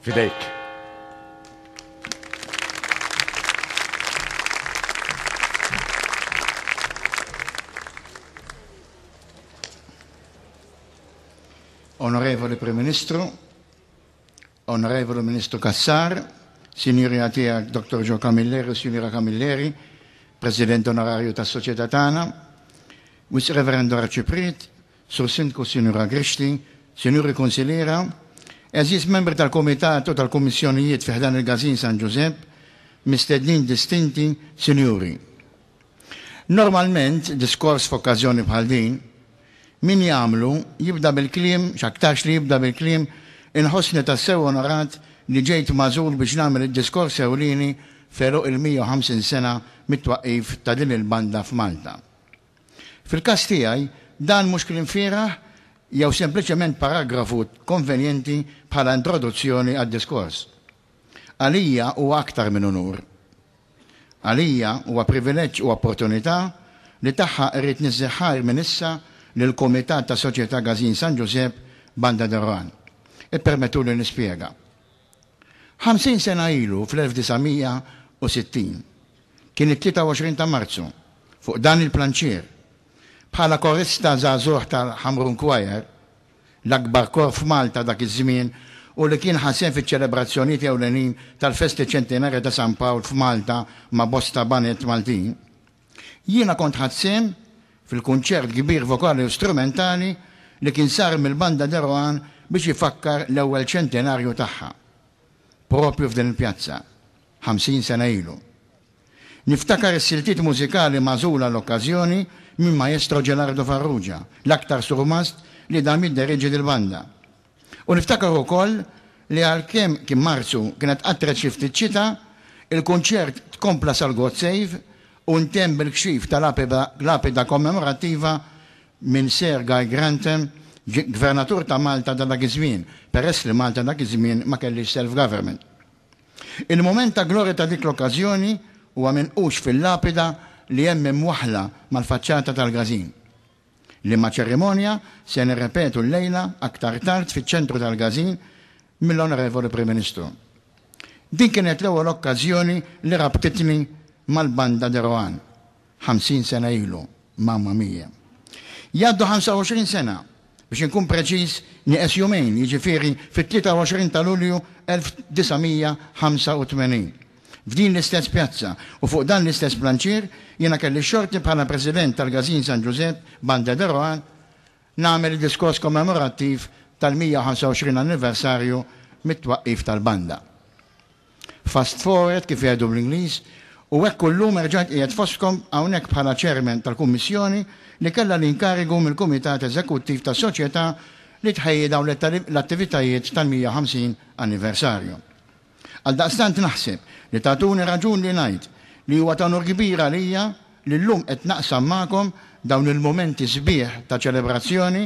F'idejk. Onorevoli Prim Ministru, Onorevoli Ministru Cassar, Sinjurina Tiegħek Dr. Joe Camilleri u Sinjura Camilleri, President Onorarju tas-Soċjetà tagħna, Wisq Reverendo Arċipriet, Sur Sindku Sinjura Grixti, Sinjuri Kunsilliera, għeżież membri tal-Kumitat u tal-Kummissjonijiet fi ħdan il-Każin San Ġużepp, mistednin distinti, Sinjuri. Normalment, diskors f'okkażjoni bħal din, min jagħmlu jibda bil-kliem, x'aktarx li jibda bil-kliem, Inħossni tassew onorat li ġejt magħżul biex nagħmel id-diskors ewlieni f'għeluq il-150 sena mit-twaqqif ta' din il-banda f'Malta. Fil-każ tiegħi, dan mhux kliem fieragħ jew sempliċement paragrafu konvenjenti bħala introduzzjoni għad-diskors. Għalija huwa aktar minn unur. Għalija huwa privileġġ u opportunità li tagħha rrid niżżi ħajr minn issa lill-Kumitat tas-Soċjetà Każin San Ġużepp Banda de Rohan. Ippermettuli nispjega. 50 sena ilu fl-1960, kien it-23 ta' Marzu, fuq dan il-planċier, bħala korista żagħżugħ tal-Ħamrun Choir, l-akbar kor f'Malta dak iż-żmien u li kien ħa sehem fiċ-ċelebrazzjonijiet ewlenin tal-festi ċentinarja ta' San Pawl f'Malta ma' bosta baned Maltin, Jiena kont ħadt sehem fil-kunċert kbir vokali u strumentali li kien sar mill-Banda de Rohan biex ifakkar l-ewwel ċentinarju tagħha, proprju f'din il-pjazza, 50 sena ilu. Niftakar is-siltiet mużikali magħżula għall-okkażjoni minn Maestro Gelardo Farrugia, l-aktar surmast li dam jidderieġi dil-banda. U niftakar ukoll li għalkemm kien Marzu kienet qattret xi ftit xita, il-kunċert tkompla sal-God Save u ntemm bil-kxif ta' lapida kommemorattiva minn Sir Guy Grantham, Gvernatur ta' Malta ta' dak iż-żmien, peress li Malta dak iż-żmien ma kellhiex self-government. Il-mument ta' glorja ta' dik l-okkażjoni huwa minqux fil-lapida li hemm imwaħħla mal-faċċata tal-każin. Liema ċerimonja se nirrepetu llejla aktar tard fiċ-ċentru tal-Każin mill-Onorevoli Prim Ministru. Din kienet l-ewwel okkażjoni li rabtitni mal-Banda de Rohan, 50 sena ilu, mamma mia. Jgħaddu 25 sena, biex inkun preċiż, nieqes jumejn, jiġifieri fit-23 ta' Lulju 1985. F'din l-istess pjazza u fuq dan l-istess planċier jiena kelli x-xorti bħala President tal-Każin San Ġużepp Banda de Rohan nagħmel id-diskors kommemorattiv tal-125 anniversarju mit-twaqqif tal-banda. Fast forward kif jgħidu bl-Ingliż u hekk u llum erġajt qiegħed fostkom hawnhekk bħala Chairman tal-Kummissjoni li kellha l-inkarigu mill-Kumitat Eżekuttiv tas-Soċjetà li tħejji dawn l-attivitajiet tal-150 anniversarju. Għaldaqstant naħseb li tagħtuni raġun li ngħid li huwa ta' unur kbir għalija li llum qed naqsam magħkom dawn il-mumenti sbieħ ta' ċelebrazzjoni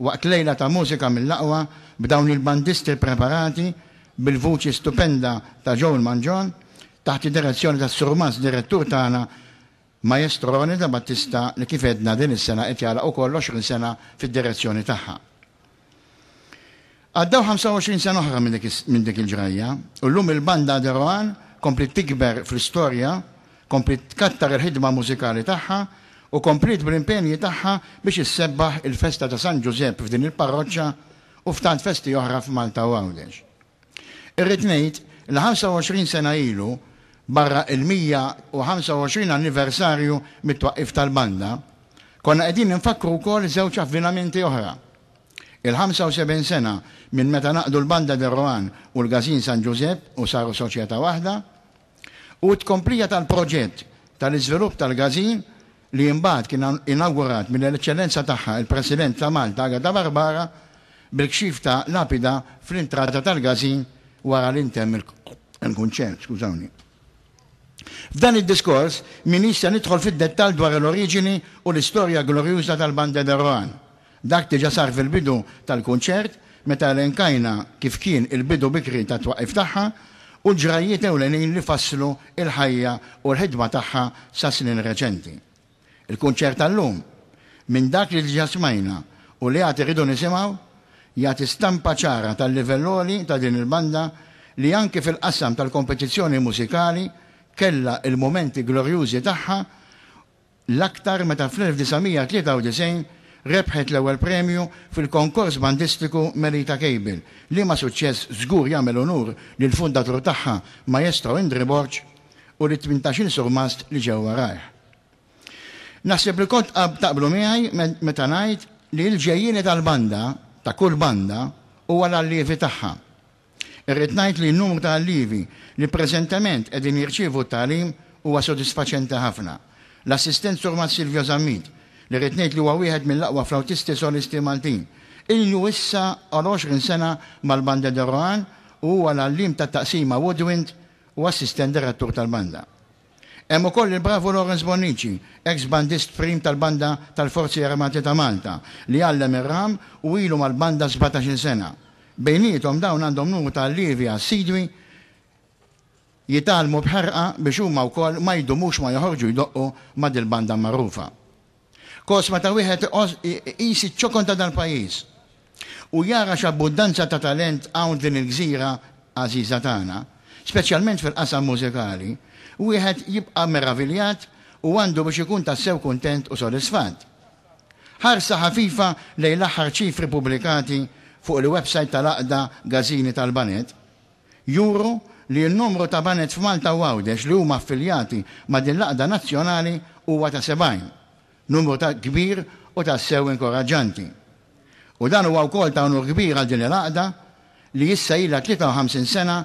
waqt lejla ta' mużika mill-aqwa b'dawn il-bandisti ppreparati bil-vuċi stupenda ta' Joel Mangion taħt id-direzzjoni tas-Surmast Direttur tagħna Maestro Ronnie De Battista li kif għedna din is-sena qed jagħlaq ukoll 20 sena fid-direzzjoni tagħha. Għaddew 25 sena oħra minn dik il-ġrajja u llum il-banda De Rohan kompliet tikber fl-istorja, kompliet tkattar il-ħidma mużikali tagħha u kompliet bl-impenji tagħha biex issebbaħ il-festa ta' San Ġużepp f'din il-parroċċa u f'tant festi oħra f'Malta u Għawdex. Irrid ngħid li 25 sena ilu, barra il-125 anniversarju mit-twaqqif tal-banda, konna qegħdin infakkru wkoll żewġ avvinamenti oħra. Il-75 sena minn meta ngħaqdu l-Banda de Rohan u l-Każin San Ġużepp u saru soċjetà waħda, u t-tkomplija tal-proġett tal-iżvilupp tal-każin li imbagħad kien inawgurat mill-Eċċellenza Tagħha il-President ta' Malta Agata Barbara bil-kxif ta' lapida fl-intrata tal-każin wara li ntemm il-kunċert. Skużawni. F'dan id-diskors m'iniex se nidħol fid-dettall dwar l-oriġini u l-istorja glorjuża tal-Bande de Rohan. Dak diġà sar fil-bidu tal-kunċert meta elenkajna kif kien il-bidu bikri tat-twaqqif tagħha u l-ġrajjiet ewlenin li fasslu l-ħajja u l-ħidma tagħha sa snin reċenti. Il-kunċert tal-lum, minn dak li diġà smajna u li għad irridu nisimgħu, jagħti stampa ċara tal-livell għoli ta' din il-banda li anki fil-qasam tal-kompetizzjoni mużikali kellha l-mumenti glorjużi tagħha l-aktar meta fl-1993 rebħet l-ewwel premju fil-konkors bandistiku Melita Cable, liema suċċess żgur jagħmel unur lill-fundatur tagħha Maestro Indri Borg u lit-tmintax-il surmast li ġew warajh. Naħseb li kont taqblu miegħi meta ngħid li l-ġejjieni tal-banda, ta' kull banda, huwa l-allievi tagħha. Irrid ngħid li n-numru ta' allievi li preżentement qegħdin jirċievu t-tagħlim huwa sodisfaċenti ħafna. L-assistent Surmast Silvio Zammit, li rrid ngħid li huwa wieħed mill-aqwa flautisti solisti Maltin, ilu issa għal 20 sena mal-Bande de Rohan u huwa l-għalliem tat-taqsima Woodwind u assistent direttur tal-banda. Hemm ukoll il-bravu Lawrence Bonnici, eks bandist prim tal-Banda tal-Forzi Armati ta' Malta, li għallem ir-ram u ilu mal-banda sbatax-il sena. Bejniethom dawn għandhom numru ta' allievi assidwi jitgħallmu b'ħerqa biex huma wkoll ma jdumux ma joħorġu jdoqqu ma' dil-banda magħrufa. Kos meta wieħed iqis iċ-ċokon ta' dal-pajjiż u jara x'abbundanza ta' talent hawn f'din il-gżira għażiża tagħna, speċjalment fil-qasam mużikali, wieħed jibqa' meraviljat u għandu biex ikun tassew kuntent u sodisfatt. Ħarsa ħafifa lejn l-aħħar ċifri pubblikati fuq il-websajt tal-Għaqda Gażini tal-Baned juru li n-numru ta' baned f'Malta u Għawdex li huma affiljati ma' din l-għaqda nazzjonali huwa ta' 70, numru ta' kbir u tassew inkoraġġanti. U dan huwa wkoll ta' unur kbir għal din il-għaqda li issa ilha 53 sena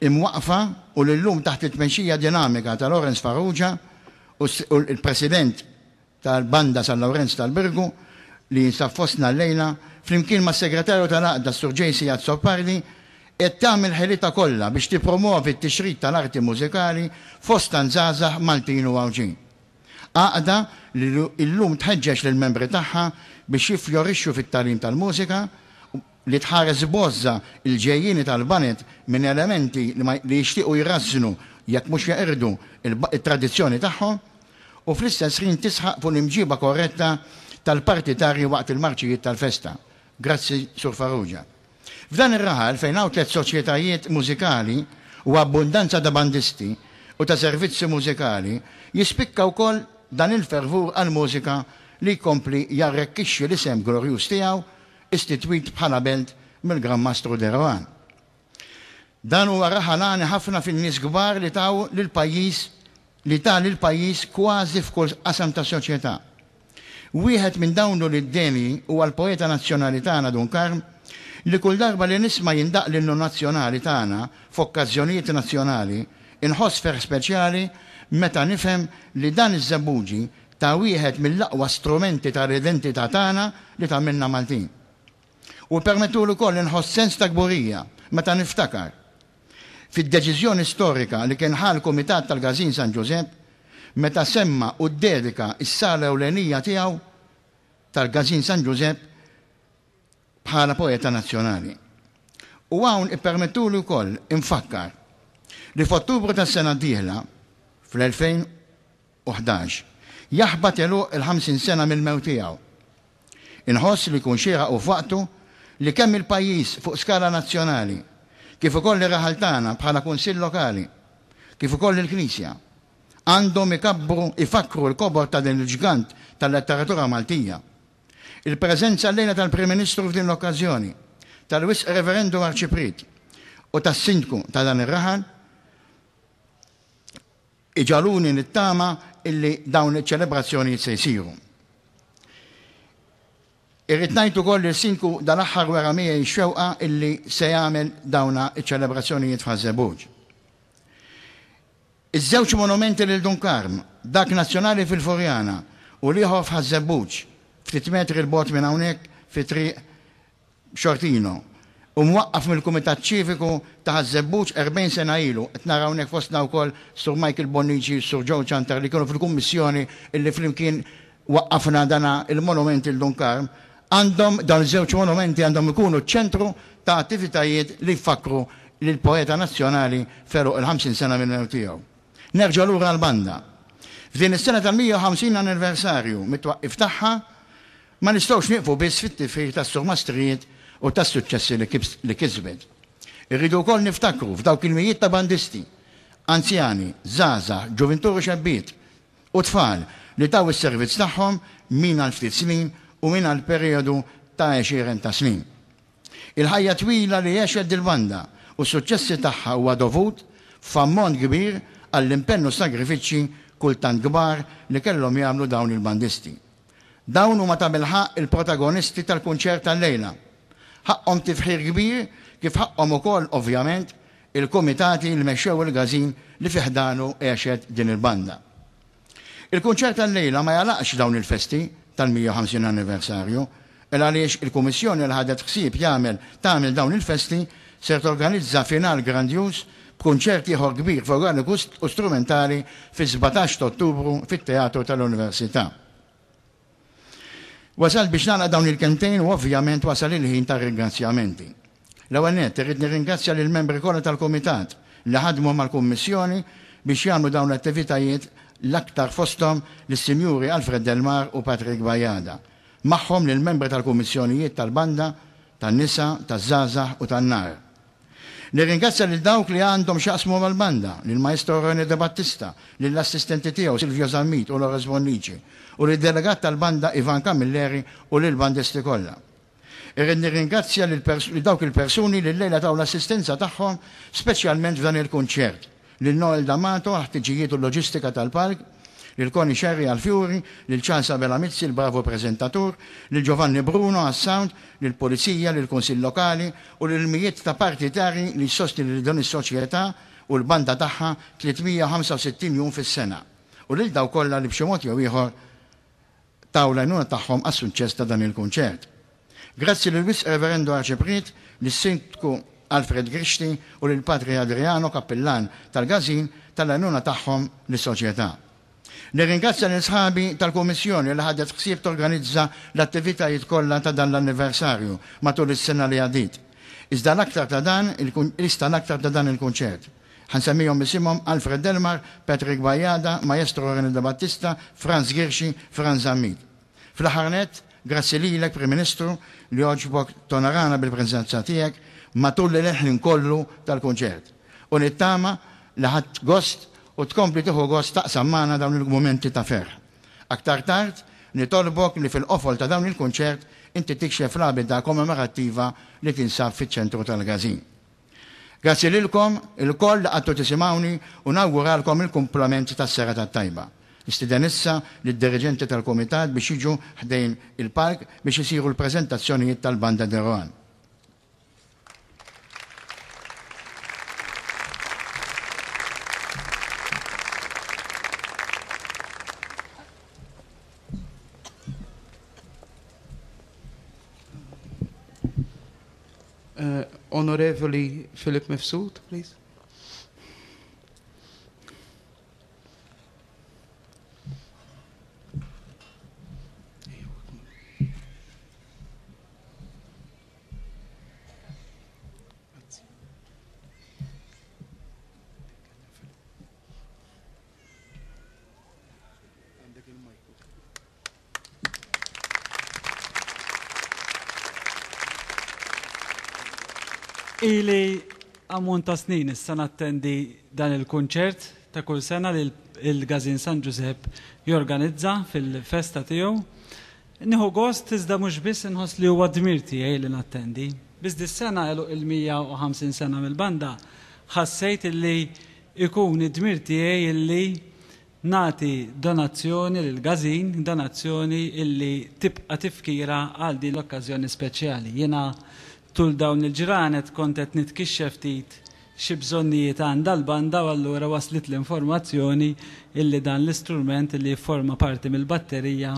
imwaqqfa u li llum taħt it-tmexxija dinamika ta' Lawrence Farrugia u l-President tal-Banda San Lawrenz tal-Birgu, li jinsab fostna llejla, flimkien mas-Segretarju tal-Għaqda s-Sur JC Azzopardi, qed tagħmel ħilitha kollha biex tippromovi t-tixrid tal-arti mużikali fost tant żgħażagħ Maltin u Għawdxin. Għaqda li llum tħeġġeġ lill-membri tagħha biex jiffjorixxu fit-tagħlim tal-mużika, li tħares b'għożża l-ġejjieni tal-baned minn elementi li jixtiequ jrażżnu jekk mhux jeqirdu t-tradizzjoni tagħhom u fl-istess ħin tisħaq fuq l-imġiba korretta tal-partitarji waqt il-marċijiet tal-festa. Grazzi Sur Farrugia. F'dan ir-raħal fejn hawn tlett soċjetajiet mużikali u abbundanza ta' bandisti u ta' servizzi mużikali jispikka wkoll dan il-fervur għall-mużika li jkompli jarrekkixxi l-isem glorjuż tiegħu istitwit bħala belt mill-Gran Mastru de Rohan. Dan huwa raħal għani ħafna fin-nies kbar li taw lill-pajjiż li ta lill-pajjiż kważi f'kull qasam tas-soċjetà. Wieħed minn dawn l-ulied denji huwa l-poeta nazzjonali tagħna Dun Karm li kull darba li nisma' jindaqq l-innu nazzjonali tagħna f'okkażjonijiet nazzjonali inħoss ferħ speċjali meta nifhem li dan iż-żebbuġi ta' wieħed mill-aqwa strumenti tal-identità tagħna li tagħmilna Maltin. U ppermettuli wkoll li nħoss sens ta' kburija meta niftakar fid-deċiżjoni storika li kien ħa l-Kumitat tal-Każin San Ġużepp meta semma u ddedika s-sala ewlenija tiegħu tal-Każin San Ġużepp bħala poeta nazzjonali. U hawn ippermettuli wkoll infakkar li f'Ottubru tas-sena d-dieħla, fl-2000, 2011, jaħbat għeluq il-50 sena mill-mewt tiegħu. Inħoss li jkun xieraq u f'waqtu li kemm il-pajjiż fuq skala nazzjonali, kif ukoll ir-raħal tagħna bħala Kunsill Lokali, kif ukoll il-Knisja, għandhom ikabbru ifakkru l-kobor ta' din il-ġgant tal-letteratura Maltija. Il-preżenza llejla tal-Prim Ministru f'din l-okkażjoni, tal-Wisq Reverendu Arċipriet u tas-Sindku ta' dan ir-raħal, Iġagħluni nittama illi dawn iċ-ċelebrazzjonijiet se jsiru. Irrid ngħid ukoll li s-Sindku dal-aħħar wera miegħi x-xewqa illi se jagħmel dawna iċ-ċelebrazzjonijiet f'Ħaż-Żebbuġ. Iż-żewġ monumenti lil Dun Karm, dak nazzjonali fil-Furjana u l-ieħor f'Ħaż-Żebbuġ, ftit metri 'l bogħod minn hawnhekk fi Triq Xortino, u mwaqqaf mill-Kumitat Ċiviku ta' Ħaż-Żebbuġ 40 sena ilu. Qed nara hawnhekk fostna wkoll Sur Michael Bonnici u Sur Joe Ciantar li kienu fil-kummissjoni illi flimkien waqqafna dana il-monument lil Dun Karm. Għandhom, dawn iż-żewġ monumenti għandhom ikunu ċ-ċentru ta' attivitajiet li jfakkru lill-poeta nazzjonali f'għeluq il-50 sena mill-mewt tiegħu. Nerġa' lura għall-banda. F'din is-sena tal-150 anniversarju mit-twaqqif tagħha, Ma nistgħux nieqfu biss fit-tifħir tas-surmastrijiet u tas-suċċessi li kisbet. Irridu wkoll niftakru f'dawk il-mijiet ta' bandisti, anzjani, żgħażagħ, ġuvintur u xebbiet, u tfal li taw is-servizz tagħhom min għal ftit snin u min għal perijodu ta' għexieren ta' snin. Il-ħajja twila li għexet dil-banda u s-suċċessi tagħha huwa dovut f'ammont kbir għall-impenn u s-sagrifiċċji kultant kbar li kellhom jagħmlu dawn il-bandisti. Dawn huma tabilħaqq il-protagonisti tal-kunċert tal-lejla. Ħaqqhom tifħir kbir kif ħaqqhom ukoll ovvjament il-kumitati li mexxew il-każin li fi ħdanu għexet din il-banda. Il-kunċert tal-lejla ma jagħlaqx dawn il-festi tal-150 anniversarju, il għaliex il-Kummissjoni li ħadet ħsieb jagħmel tagħmel dawn il-festi ser torganizza final grandjuż b'kunċert ieħor kbir vokali u strumentali fis-17 ta' Ottubru fit-Teatru tal-Università. Wasalt biex nagħlaq dawn il-kelmtejn u ovvjament wasal il-ħin tar-ringrazzjamenti. L-ewwel nett, irrid nirringrazzja lill-membri kollha tal-Kumitat li ħadmu mal-Kummissjoni biex jagħmlu dawn l-attivitajiet l-aktar fosthom lis-Sinjuri Alfred Del Mar u Patrick Bajada. Magħhom lill-membri tal-Kummissjonijiet tal-Banda, tan-Nisa, taż-Żgħażagħ u tan-Nar. Nirringrazzja lil dawk li għandhom x'jaqsmu mal-banda, lill-Maestro René De Battista, lill-assistenti tiegħu Silvio Zammit u Lawrence Bonnici, u lid-delegat tal-banda Ivan Camilleri u lill-bandisti kollha. Irrid nirringrazzja lil dawk il-persuni li llejla taw l-assistenza tagħhom speċjalment f'dan il-kunċert, lil Noel D'Amato għall-ħtiġijiet u l-loġistika tal-palk, lil Connie Scerri għall-fjuri, lil Charles Abela Mizzi l-bravu preżentatur, lil Giovanni Bruno għas-sound, lill-Pulizija, lill-Kunsill Lokali u lil mijiet ta' partitarji li jsostni lil din is-soċjetà u l-banda tagħha 365 jum fis-sena u lil dawk kollha li b'xi mod jew ieħor taw l-għajnuna tagħhom għas-suċċess ta' dan il-kunċert. Grazzi lill-Wisq Reverendo Arċipriet, lis-Sindku Alfred Grixti u lil Patri Adriano, Kappillan tal-Każin, tal-għajnuna tagħhom lis-Soċjetà. Nirringrazzja lil sħabi tal-Kummissjoni li ħadet ħsieb torganizza l-attivitajiet kollha ta' dan l-anniversarju matul is-sena li għaddiet. Iżda l-aktar ta' dan iżda l-aktar ta' dan il-kunċert. Ħa nsemmihom b'isimhom Alfred Delmar, Patrick Bajada, Maestro René De Battista, Frans Ghirxi, Frans Zammit. Fl-aħħar nett, grazzi lilek, Prim Ministru, li għoġbok tonorana bil-preżenza tiegħek matul il-ħin kollu tal-kunċert. U nittama li ħadt gost u tkompli tieħu gost taqsam magħna dawn il-mumenti ta' ferħ. Aktar tard, nitolbok li fil-qofol ta' dawn il-kunċert inti tikxef l-għabida kommemorattiva li tinsab fiċ-ċentru tal-każin. Grazzi lilkom ilkoll li qgħadtu tisimgħuni u nawguralkom il-kumplament tas-serata t-tajba. Nistieden issa lid-diriġenti tal-kumitat biex jiġu ħdejn il-palk biex isiru l-preżentazzjonijiet tal-Banda de Rohan. Uh, Onorevoli Philip Mifsud, please. Ili ammont ta' snin issa nattendi dan il-kunċert ta' kull sena li l-Gazin San Ġużepp jorganizza fil-festa tiegħu. Nieħu gost iżda mhux biss inħoss li huwa dmir tiegħi li nattendi. Biss dis-sena għeluq il-150 sena mill-banda ħassejt illi ikun id-dmir tiegħi illi Nagħti donazzjoni lill-Każin, donazzjoni illi tibqa' tifkira għal din l-okkażjoni speċjali. Jiena tul dawn il-ġranet kont qed nitkixxef ftit xi bżonnijiet għandha l-banda u allura waslitli informazzjoni illi dan l-istrument illi jifforma parti mill-batterija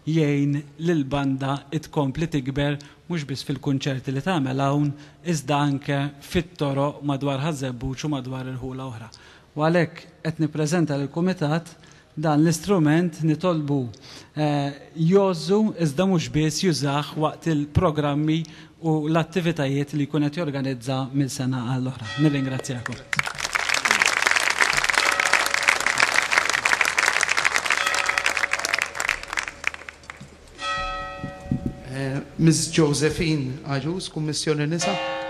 jgħin lill-banda tkompli tikber mhux biss fil-kunċerti li tagħmel hawn iżda anke fit-toroq madwar Ħaż-Żebbuġ u madwar irħula oħra. U għalhekk qed nippreżenta lill-Kumitat dan l-istrument nitolbu jgħożżu iżda mhux biss jużah waqt il-programmi u l-attivitajiet li jkun qed jorganizza minn sena għall-oħra. Nirringrazzjakom. Ms. Josephine Agius, Kummissjoni Nisa.